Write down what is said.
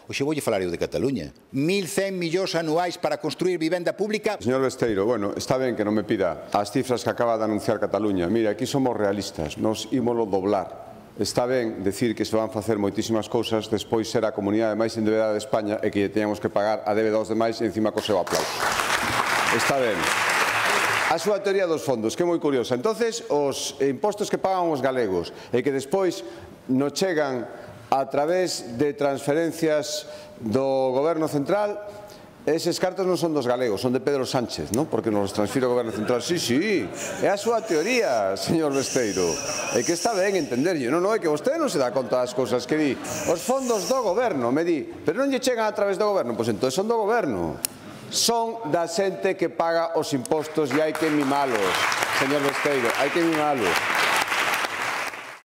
Oxe, voulle falar eu de Cataluña. 1.100 millóns anuais para construir vivenda pública. Señor Besteiro, bueno, está ben que non me pida as cifras que acaba de anunciar Cataluña. Mira, aquí somos realistas, nos ímolo doblar. Está ben decir que se van facer moitísimas cousas, despois ser a comunidade máis endeudada de España e que teñamos que pagar a débeda aos demais e encima co seu aplauso. Está ben. A súa teoría dos fondos, que é moi curiosa. Entonces, os impostos que pagan os galegos e que despois nos chegan a través de transferencias do Goberno Central, eses cartos non son dos galegos, son de Pedro Sánchez, non? Porque nos transfire o Goberno Central. Sí, sí, é a súa teoría, señor Besteiro. É que está ben entenderlle. Non, é que vostede non se dá conta das cousas que di. Os fondos do Goberno, me di, pero non lle chegan a través do Goberno. Pois entón son do Goberno. Son da xente que paga os impostos e hai que mimalos, señor Besteiro, hai que mimalos.